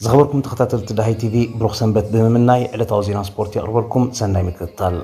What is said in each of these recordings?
ዝኸበርኩም ተኸታተልቲ ዳሃይ ቲቪ፣ ብሩኽ ሰንበት ብምምናይ ዕለታዊ ዜና ስፖርት የቕርበልኩም። ሰናይ ምክትታል።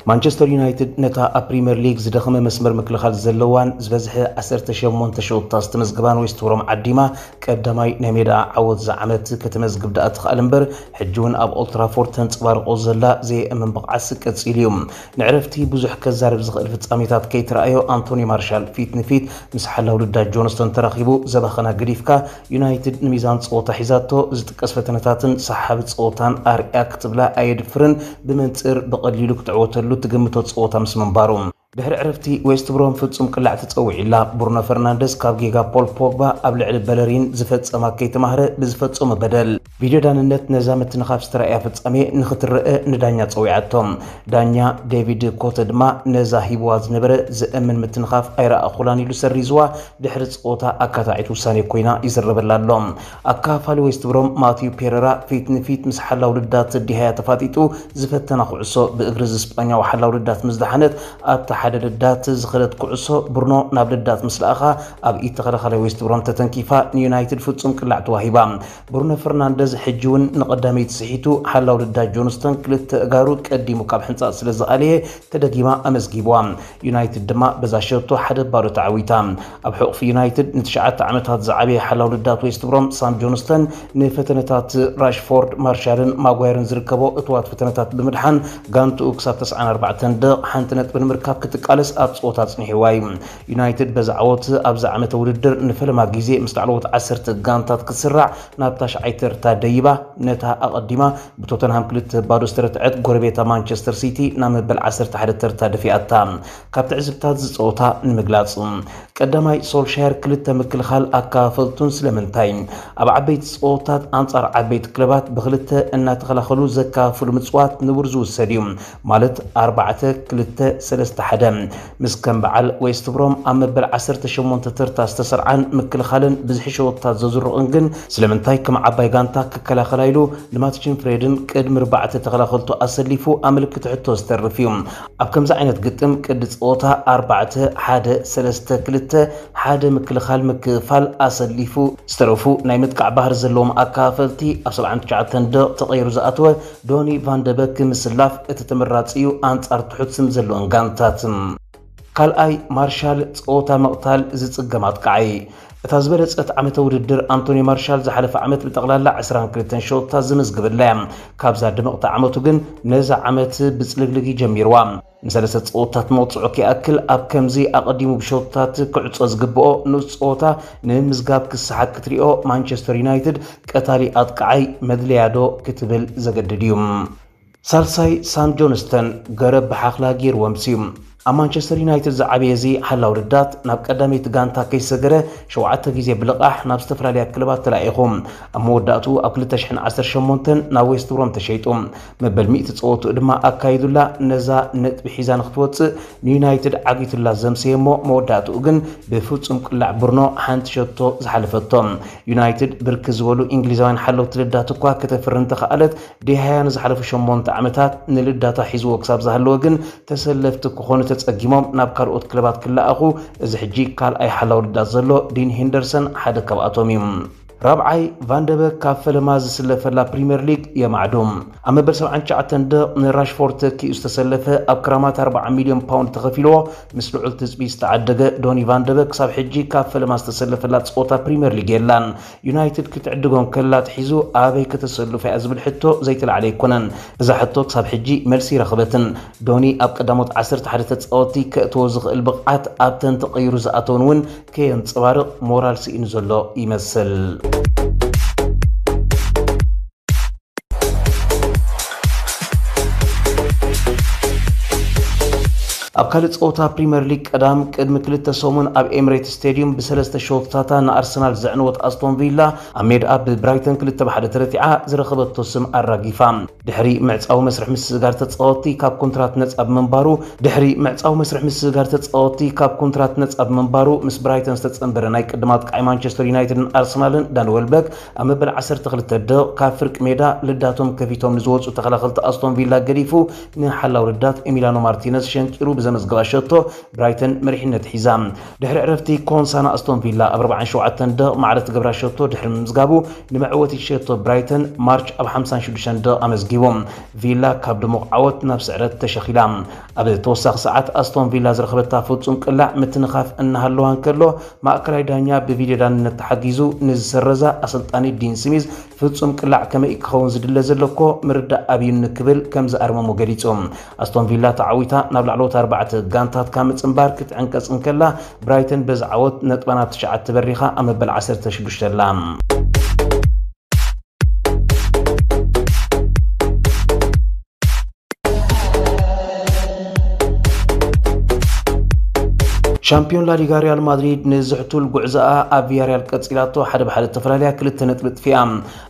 ማንቸስተር ዩናይትድ ነታ ኣብ ፕሪምየር ሊግ ዝደኸመ መስመር ምክልኻል ዘለዋን ዝበዝሐ ዓሰርተ ሸሞንተ ሸወታ ዝተመዝግባን ዌስት ብሮም ዓዲማ ቀዳማይ ናይ ሜዳ ዓወት ዝዓመት ከተመዝግብ ደኣ ትኽኣል እምበር፣ ሕጂ እውን ኣብ ኦልትራፎርድ ተንጸባርቆ ዘላ ዘየእምን ብቕዓት ቀጺሉ እዩ። ንዕረፍቲ ብዙሕ ከዛርብ ዝኽእል ፍጻሜታት ከይተረኣዮ፣ ኣንቶኒ ማርሻል ፊት ንፊት ምስ ሓላው ልዳ ጆንስተን ተራኺቡ ዘባኸና ገዲፍካ፣ ዩናይትድ ንሚዛን ጸወታ ሒዛቶ ዝጥቀስ ፈተነታትን ሰሓቢ ጸወታን ኣርእያ ክትብላ ኣየድፍርን፣ ብመንጽር ብቐሊሉ ክትዕወተሉ ትግምቶ ጸወታ ምስ ምንባሩ። ድሕሪ ዕረፍቲ ዌስት ብሮም ፍጹም ቅላዕ ተጸዊዑላ። ብሩኖ ፈርናንደስ ካብ ጌጋ ፖል ፖግባ ኣብ ልዕሊ በለሪን ዝፈጸማ ከይተማህረ ብዝፈጸሞ በደል። ቪድዮ ዳንነት ነዛ ምትንኻፍ ዝተራእያ ፍጻሜ ንኽትረአ ንዳኛ ጸዊዓቶ። ዳኛ ዴቪድ ኮተ ድማ ነዛ ሂብዋ ዝነበረ ዘእምን ምትንኻፍ ኣይረኣኹላን ኢሉ ሰሪዝዋ። ድሕሪ ጸወታ ኣካታዒት ውሳኔ ኮይና ይዝረበላ ኣሎ። ኣካፋሊ ዌስት ብሮም ማቲዩ ፔሬራ ፊት ንፊት ምስ ሓላው ልዳት ዲሃያ ተፋጢጡ ዝፈተና ኩዕሶ ብእግሪ ዝስጳኛዊ ሓላው ልዳት ምስ ደሓነት ኣብቲ ሓደ ልዳት ዝኸደት ኩዕሶ ብሩኖ ናብ ልዳት ምስ ለኣኻ ኣብ ኢድ ተኸላኻላይ ዌስት ብሮም ተተንኪፋ ንዩናይትድ ፍጹም ቅላዕ ተዋሂባ። ብሩኖ ፈርናንደዝ ሕጂ እውን ንቐዳመይቲ ስሒቱ ሓላው ልዳት ጆንስተን ክልተ እጋሩ ቀዲሙ ካብ ሕንጻጽ ስለ ዝኣለየ ተደጊማ ኣመዝጊብዋ። ዩናይትድ ድማ በዛ ሸቶ ሓደ ባዶ ተዓዊታ። ኣብ ሕቑፊ ዩናይትድ ንትሽዓተ ዓመታት ዝዓበየ ሓላው ልዳት ዌስት ብሮም ሳም ጆንስተን ንፈተነታት ራሽፎርድ፣ ማርሻልን ማጓየርን ዝርከቦ እትዋት ፈተነታት ብምድሓን ጋንትኡ ክሳብ ተስዓን ኣርባዕተን ደቕ ሓንቲ ነጥቢ ንምርካብ ክትቃለስ ኣብ ጸወታ ኣጽኒሕዋ እዩ። ዩናይትድ በዚ ዓወት ኣብዚ ዓመተ ውድድር ንፈለማ ግዜ ምስ ላዕለዎት ዓሰርተ ጋንታት ክትስራዕ ናብ ታሽዓይ ተርታ ደይባ፣ ነታ ኣቐዲማ ብቶተንሃም ክልተ ባዶ ዝተረትዐት ጎረቤታ ማንቸስተር ሲቲ ናብ መበል ዓሰርተ ሓደ ተርታ ደፊኣታ። ካብ ትዕዝብታት ዝጸወታ ንምግላጽ፣ ቀዳማይ ሶልሻየር ክልተ ምክልኻል ኣካፈልቱን ስለምንታይ ኣብ ዓበይቲ ጸወታት ኣንጻር ዓበይቲ ክለባት ብክልተ እናተኸላኸሉ ዘካፍሉ ምጽዋት ንቡር ዝውሰድ እዩ፣ ማለት ኣርባዕተ ክልተ ሰለስተ ሓደ። ምስ ከም በዓል ዌስት ብሮም ኣብ መበል ዓሰርተ ሸሞንተ ተርታ ዝተሰርዓን ምክልኻልን ብዝሒ ሸወታት ዘዝርቑን ግን ስለምንታይ ከም ዓባይ ጋንታ ክከላኸላ ኢሉ ንማትችን ፍሬድን ቅድሚ ኣርባዕተ ተኸላኸልቱ ኣሰሊፉ ኣመልክቲ ሕቶ ዝተርፍ እዩ። ኣብ ከምዚ ዓይነት ግጥም ቅዲ ጸወታ ኣርባዕተ ሓደ ሰለስተ ክልተ ሓደ ምክልኻል ምክፋል ኣሰሊፉ ዝተረፉ ናይ ምጥቃዕ ባህሪ ዘለዎም ኣካፈልቲ ኣብ ሰብዓን ትሽዓተን ደቕ ተቐይሩ ዝኣተወ ዶኒ ቫንደበክ ምስላፍ እቲ ተመራጺ እዩ ኣንጻር ትሑት ስም ዘለወን ጋንታት። ካልኣይ ማርሻል ጸወታ ምቕታል ዝጽገም ኣጥቃዓይ። እታ ዝበለጸት ዓመተ ውድድር ኣንቶኒ ማርሻል ዝሓለፈ ዓመት ብጠቕላላ ዕስራን ክልተን ሸወታት ዝምዝግበላ እያ። ካብዛ ድምቕቲ ዓመቱ ግን ነዛ ዓመት ብጽልግልግ ጀሚርዋ። ንሰለስተ ጸወታት መቕጽዑ ክይኣክል ኣብ ከምዚ ኣቐዲሙ ብሸወታት ክዕጾ ዝግብኦ ንኡስ ጸወታ ንምምዝጋብ ክሰሓት ክትሪኦ ማንቸስተር ዩናይትድ ቀታሊ ኣጥቃዓይ መድለያዶ ክትብል ዘገድድ እዩ። ሳልሳይ ሳም ጆንስተን ገረብ ብሓኽላ ገይርዎም ስዩ። ኣብ ማንቸስተር ዩናይትድ ዝዓበየ እዚ ሓላው ልዳት ናብ ቀዳመይቲ ጋንታ ከይሰገረ ሸውዓተ ግዜ ብልቓሕ ናብ ዝተፈላለያ ክለባት ተላኢኹ። ኣብ መወዳእትኡ ኣብ ክልተ ሽሕን ዓሰርተ ሸሞንተን ናብ ዌስት ብሮም ተሸይጡ። መበል ሚእቲ ጸወትኡ ድማ ኣካይዱላ ነዛ ነጥቢ ሒዛ ንክትወጽእ ንዩናይትድ ዓጊቱላ ዘምሰየ እሞ መወዳእትኡ ግን ብፍጹም ቅላዕ ብርኖ ሓንቲ ሸቶ ዝሓለፈቶ። ዩናይትድ ብርክት ዝበሉ እንግሊዛውያን ሓለውቲ ልዳት እኳ ከተፍሪ እንተኸኣለት ዲሃያ ንዝሓለፉ ሸሞንተ ዓመታት ንልዳታ ሒዝዎ ክሳብ ዝሃለወ ግን ተሰለፍቲ ክኾኑ ተጸጊሞም ናብ ካልኦት ክለባት ክለኣኹ እዚ ሕጂ ካልኣይ ሓላው ልዳት ዘሎ ዲን ሄንደርሰን ሓደ ካብኣቶም እዩ። ራብዓይ ቫንደበክ ካብ ፈለማ ዝስለፈላ ፕሪምየር ሊግ የማዕዱ። ኣብ መበል ሰብዓን ትሽዓተን ደቕ ንራሽፎርድ ተኪኡ ዝተሰለፈ ኣብ ክራማት ኣርብዓ ሚልዮን ፓውንድ ተኸፊልዎ ምስ ልዑል ትጽቢት ዝተዓደገ ዶኒ ቫንደበክ ክሳብ ሕጂ ካብ ፈለማ ዝተሰለፈላ ጸወታ ፕሪምየር ሊግ የላን። ዩናይትድ ክትዕድጎ እንከላ ኣትሒዙ ኣበይ ከተሰልፎ እያ ዝብል ሕቶ ዘይተላዕለ ኣይኮነን። እዛ ሕቶ ክሳብ ሕጂ መልሲ ይረኸበትን። ዶኒ ኣብ ቀዳሞት ዓሰርተ ሓደ ተጻወትቲ ከእትዎ ዝኽእል ብቕዓት ኣብተን ተቐይሩ ዝኣተወን እውን ከየንጸባርቕ ሞራል ስኢኑ ዘሎ ይመስል። ኣብ ካልእ ጸወታ ፕሪምየር ሊግ ቀዳም ቅድሚ ክልተ ሰሙን ኣብ ኤምሬትስ ስቴድዩም ብሰለስተ ሸቶታት ንኣርሰናል ዘዕነወት ኣስቶን ቪላ ኣብ ሜድኣ ብብራይተን ክልተ ብ ሓደ ተረቲዓ ዝረኸበቶ ስም ኣራጊፋ። ድሕሪ ምዕጻዊ መስርሕ ምስግጋር ተጻወትቲ ካብ ኮንትራት ነጻ ብምንባሩ ድሕሪ ምዕጻዊ መስርሕ ምስግጋር ተጻወትቲ ካብ ኮንትራት ነጻ ብምንባሩ ምስ ብራይተን ዝተጸንበረ ናይ ቅድም ኣጥቃዒ ማንቸስተር ዩናይትድን ኣርሰናልን ዳን ወልበክ ኣብ መበል ዓሰርተ ክልተ ደቕ ካብ ፍርቂ ሜዳ ልዳቶም ከፊቶም ንዝወጹ ተኸላኸልቲ ኣስቶን ቪላ ገዲፉ ንሓላው ልዳት ኤሚላኖ ማርቲነዝ ሸንቂሩ ብዘመዝገባ ሸቶ ብራይተን መሪሕነት ሒዛ። ድሕሪ ዕረፍቲ ኮንሳ ንኣስቶን ቪላ ኣብ ኣርባዓን ሸውዓተን ደቕ ማዕረ ትገብራ ሸቶ ድሕሪ ምምዝጋቡ ንመዕወቲ ሸቶ ብራይተን ማርች ኣብ ሓምሳን ሽዱሽተን ደቕ ኣመዝጊቡ። ቪላ ካብ ድሙቕ ዓወት ናብ ስዕረት ተሸኺላ። ኣብ ተወሳኺ ሰዓት ኣስቶን ቪላ ዝረኸበታ ፍጹም ቅላዕ ምትንኻፍ እናሃለዋ እንከሎ ማእከላይ ዳኛ ብቪድዮ ዳንነት ተሓጊዙ ንዝሰረዛ ኣሰልጣኒ ዲን ስሚዝ ፍጹም ቅላዕ ከመይ ክኸውን ዝድለ ዘሎ እኮ ምርዳእ ኣብዩኒ ክብል ከም ዝኣርመሞ ገሊጹ። ኣስቶን ቪላ ተዓዊታ ናብ ላዕለዎት ኣርባዕተ ጋንታት ካብ ምጽንባር ክትዕንቀጽ እንከላ ብራይተን በዚ ዓወት ነጥባ ናብ ትሽዓተ በሪኻ ኣብ መበል ዓሰርተ ሽዱሽተ ኣላ። ሻምፒዮን ላሊጋ ሪያል ማድሪድ ንዝሕቱል ጉዕዞኣ ኣብ ቪያሪያል ቀጺላቶ ሓደ ብሓደ ተፈላለያ ክልተ ነጥቢ ጥፊኣ።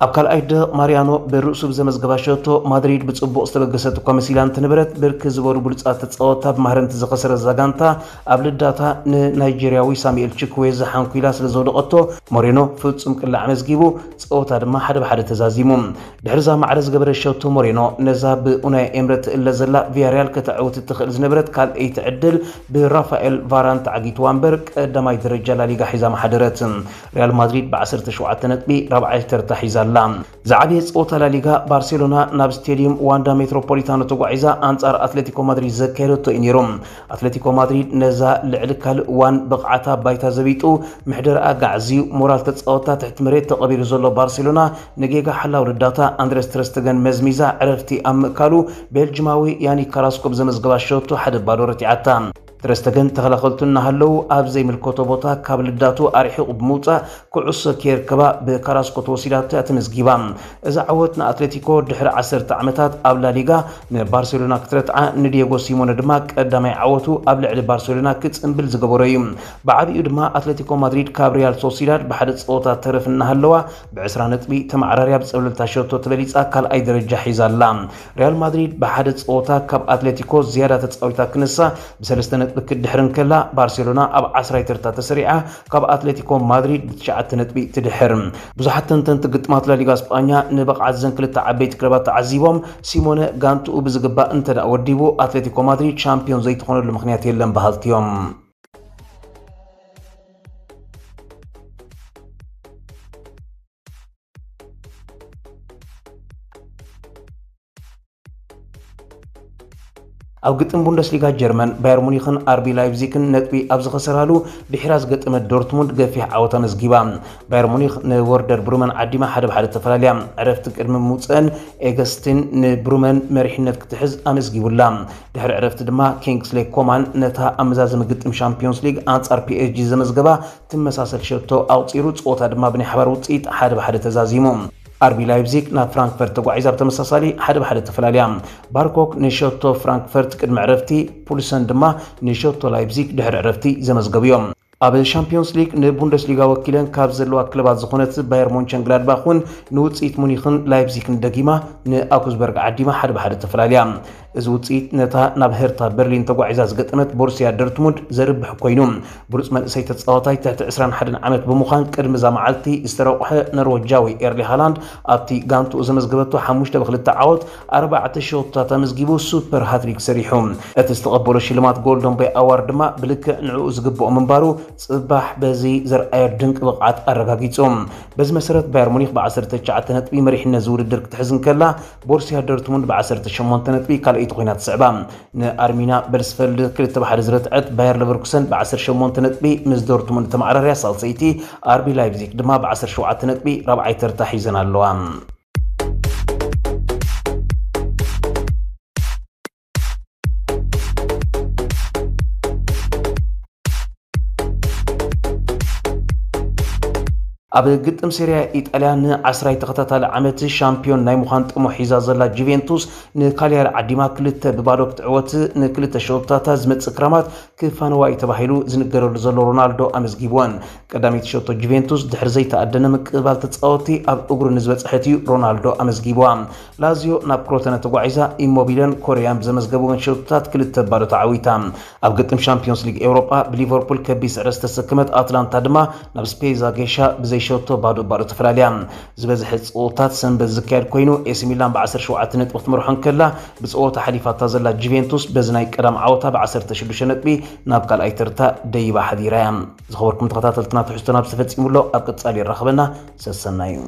ኣብ ካልኣይ ደቕ ማሪያኖ ብርእሱ ብዘመዝገባ ሸቶ ማድሪድ ብጽቡቕ ዝተበገሰት እኳ መሲላ እንትነበረት ብርክት ዝበሉ ብሉጻት ተጻወትታ ብማህረምቲ ዝኸሰረት እዛ ጋንታ ኣብ ልዳታ ንናይጄርያዊ ሳሙኤል ችክዌዘ ሓንኲላ ስለ ዘውደቐቶ ሞሬኖ ፍጹም ቅላዕ ኣመዝጊቡ ጸወታ ድማ ሓደ ብሓደ ተዛዚሙ። ድሕሪ እዛ ማዕረ ዝገበረ ሸቶ ሞሬኖ ነዛ ብኡናይ ኤምረ ትእለ ዘላ ቪያሪያል ከተዕውት እትኽእል ዝነበረት ካልኣይቲ ዕድል ብራፋኤል ቫራን ተዓጊትዋ እምበር ቀዳማይ ደረጃ ላሊጋ ሒዛ መሓደረት። ሪያል ማድሪድ ብ ዓሰርተ ሸውዓተ ነጥቢ ራብዓይ ተርታ ሒዛ ኣላ። ዝዓበየ ጸወታ ላሊጋ ባርሴሎና ናብ ስቴድዩም ዋንዳ ሜትሮፖሊታኖ ተጓዒዛ ኣንጻር ኣትሌቲኮ ማድሪድ ዘካየደቶ እዩ ነይሩ። ኣትሌቲኮ ማድሪድ ነዛ ልዕሊ ካልእ እዋን ብቕዓታ ባይታ ዘቢጡ ምሕደር ኣጋዕዝዩ ሞራል ተጻወታ ትሕቲ መሬት ተቐቢሩ ዘሎ ባርሴሎና ንጌጋ ሓላው ረዳታ ኣንድረስ ትረስተገን መዝሚዛ ዕረፍቲ ኣብ ምእካሉ ቤልጅማዊ ያኒክ ካራስኮ ብዘመዝገባ ሸቶ ሓደ ባዶ ረቲዓታ። ትረስተገን ተኸላኸልቱ እናሃለዉ ኣብ ዘይምልከቶ ቦታ ካብ ልዳቱ ኣርሒቑ ብምውጻእ ኩዕሶ ከየርከባ ብካራስኮ ተወሲዳቶ እያ ተመዝጊባ። እዛ ዓወት ንኣትሌቲኮ ድሕሪ ዓሰርተ ዓመታት ኣብ ላሊጋ ንባርሴሎና ክትረትዓ ንዲየጎ ሲሞነ ድማ ቀዳማይ ዓወቱ ኣብ ልዕሊ ባርሴሎና ክጽንብል ዝገበሮ እዩ። ብዓቢኡ ድማ ኣትሌቲኮ ማድሪድ ካብ ሪያል ሶሲዳድ ብሓደ ጸወታ ተረፍ እናሃለዋ ብ ዕስራ ነጥቢ ተመዓራርያ ብጸብለልታ ሸቶ ተበሊጻ ካልኣይ ደረጃ ሒዛ ኣላ። ሪያል ማድሪድ ብሓደ ጸወታ ካብ ኣትሌቲኮ ዝያዳ ተጻዊታ ክንሳ ብሰለስተ ነጥቢ ክትድሕር እንከላ ባርሴሎና ኣብ ዓስራይ ተርታ ተሰሪዓ ካብ ኣትሌቲኮ ማድሪድ ብትሽዓተ ነጥቢ ትድሕር። ብዙሓት ተንተንቲ ግጥማት ላሊጋ ስጳኛ ንብቕዓት ዘን ክልተ ዓበይቲ ክለባት ተዓዚቦም ሲሞነ ጋንትኡ ብዝግባእ እንተ ደኣ ወዲቡ ኣትሌቲኮ ማድሪድ ሻምፒዮን ዘይትኾነሉ ምኽንያት የለን በሃልቲ እዮም። ኣብ ግጥም ቡንደስሊጋ ጀርመን ባየር ሙኒኽን ኣርቢ ላይፕዚግን ነጥቢ ኣብ ዝኸሰራሉ ድሒራ ዝገጠመት ዶርትሙንድ ገፊሕ ዓወት ኣመዝጊባ። ባየር ሙኒኽ ንወርደር ብሩመን ዓዲማ ሓደ ብሓደ ተፈላለያ። ዕረፍቲ ቅድሚ ምውፅአን ኤገስቲን ንብሩመን መሪሕነት ክትሕዝ ኣመዝጊቡላ። ድሕሪ ዕረፍቲ ድማ ኪንግስሌ ኮማን ነታ ኣብ መዛዘሚ ግጥም ሻምፒዮንስ ሊግ ኣንጻር ፒ ኤስ ጂ ዘመዝገባ ትመሳሰል ሸቶ ኣቑጺሩ፣ ጸወታ ድማ ብናይ ሓባር ውጽኢት ሓደ ብሓደ ተዛዚሙ። ኣርቢ ላይፕዚግ ናብ ፍራንክፈርት ተጓዒዛ ብተመሳሳሊ ሓደ ብሓደ ተፈላልያ። ባርኮክ ንሸቶ ፍራንክፈርት ቅድሚ ዕረፍቲ፣ ፑልሰን ድማ ንሸቶ ላይፕዚግ ድሕሪ ዕረፍቲ ዘመዝገቡ እዮም። ኣብ ሻምፒዮንስ ሊግ ንቡንደስሊጋ ወኪለን ካብ ዘለዋ ክለባት ዝኾነት ባየር ሞንቸንግላድባኽ እውን ንውጽኢት ሙኒኽን ላይፕዚግን ደጊማ ንኣውግስበርግ ዓዲማ ሓደ ብሓደ ተፈላልያ። እዚ ውጽኢት ነታ ናብ ሄርታ በርሊን ተጓዒዛ ዝገጠመት ቦሩስያ ዶርትሙንድ ዘርብሕ ኮይኑ፣ ብሉጽ መንእሰይ ተጻዋታይ ትሕቲ ዕስራን ሓደን ዓመት ብምዃን ቅድሚ እዛ መዓልቲ ዝተረቑሐ ኖርወጃዊ ኤርሊ ሃላንድ ኣብቲ ጋንትኡ ዘመዝገበቶ ሓሙሽተ ብክልተ ዓወት ኣርባዕተ ሸቶታት ኣመዝጊቡ ሱፐር ሃትሪክ ሰሪሑ። እቲ ዝተቐበሎ ሽልማት ጎልደን ቦይ ኣዋርድ ድማ ብልክዕ ንዕኡ ዝግብኦ ምንባሩ ጽባሕ በዚ ዘርኣዮ ድንቂ ብቕዓት ኣረጋጊጹ። በዚ መሰረት ባየር ሙኒክ ብ ዓሰርተ ትሽዓተ ነጥቢ መሪሕነት ዝውድድር ክትሕዝ እንከላ፣ ቦሩስያ ዶርትሙንድ ብ ዓሰርተ ሸሞንተ ነጥቢ ካልኣይቲ ኮይና ትስዕባ። ንኣርሚና በርስፈልድ ክልተ ብ ሓደ ዝረትዐት ባየር ለቨርኩሰን ብ ዓሰርተ ሸሞንተ ነጥቢ ምስ ዶርትሙንድ ተመዓራርያ ሳልሰይቲ፣ ኣርቢ ላይፕዚግ ድማ ብ ዓሰርተ ሸውዓተ ነጥቢ ራብዓይ ተርታ ሒዘን ኣለዋ። ኣብ ግጥም ሴሪያ ኢጣልያ ንዓስራይ ተኸታታሊ ዓመት ሻምፒዮን ናይ ምዃን ጥሙሕ ሒዛ ዘላ ጁቬንቱስ ንካልያሪ ዓዲማ ክልተ ብባዶ ክትዕወት ንክልተ ሸቶታት ዝመጽእ ክራማት ክፋነዋ እዩ ተባሂሉ ዝንገረሉ ዘሎ ሮናልዶ ኣመዝጊብወን። ቀዳመይቲ ሸቶ ጁቬንቱስ ድሕሪ ዘይተኣደነ ምቅባል ተጻወቲ ኣብ እግሩ ንዝበጽሐት እዩ ሮናልዶ ኣመዝጊብዋ። ላዚዮ ናብ ክሮተነ ተጓዒዛ ኢሞቢለን ኮሪያን ብዘመዝገብወን ሸቶታት ክልተ ባዶ ተዓዊታ። ኣብ ግጥም ሻምፒዮንስ ሊግ ኤውሮጳ ብሊቨርፑል ከቢድ ስዕረት ዝተሰከመት ኣትላንታ ድማ ናብ ስፔዛ ጌሻ ብዘይሸቶ ባዶ ባዶ ተፈላልያ። ዝበዝሐ ፀወታት ሰንበት ዝካየድ ኮይኑ ኤሲ ሚላን ብ17 ነጥቢ ክትመርሖ እንከላ ብፀወታ ሓሊፋታ ዘላ ጁቬንቱስ በዚ ናይ ቀዳም ዓወታ ብ16 ነጥቢ ናብ ካልኣይ ተርታ ደይባ ሓዲራ እያ። ዝኸበርኩም ተኸታተልትና ትሕዝቶና ብዝተፈፂሙ ኣሎ ኣብ ቀፃሊ ይራኸበና ሰሰናዩ።